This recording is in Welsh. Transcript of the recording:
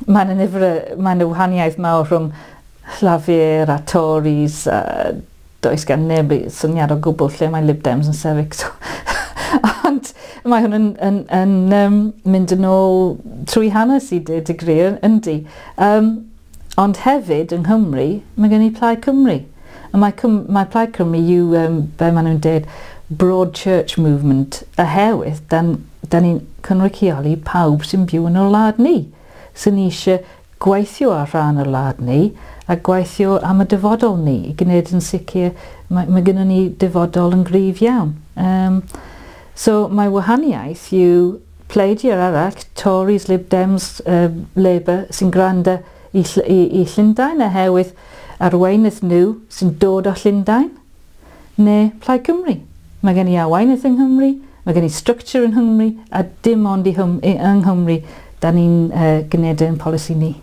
Mae'n nifer, mae'n wahaniaeth mawr rhwng Llafur a Tories, a does gan neb syniad o gwbl lle mae Lib Dems yn sefyll. So, ond mae hwn yn mynd yn ôl trwy hanes i dweud y gwir, yndi. Ond hefyd yng Nghymru, mae gen i Plaid Cymru. A mae Plaid Cymru yw, be maen nhw'n dweud, Broad Church Movement, oherwydd dan ni'n cynrychioli pawb sy'n byw yn y wlad ni, sy'n eisiau gweithio ar rhan y wlad ni a gweithio am y dyfodol ni i gwneud yn sicr mae gennym ni dyfodol yn gryf iawn. So mae wahaniaeth yw pleidiau arall, Tories, Lib Dems, Labour, sy'n gwrando i Llundain oherwydd arweinydd nhw sy'n dod o Llundain, neu Plaid Cymru. Mae gen i arweinydd yng Nghymru, mae gen i structure yng Nghymru, a dim ond yng Nghymru da ni'n gwneud ein polisi ni.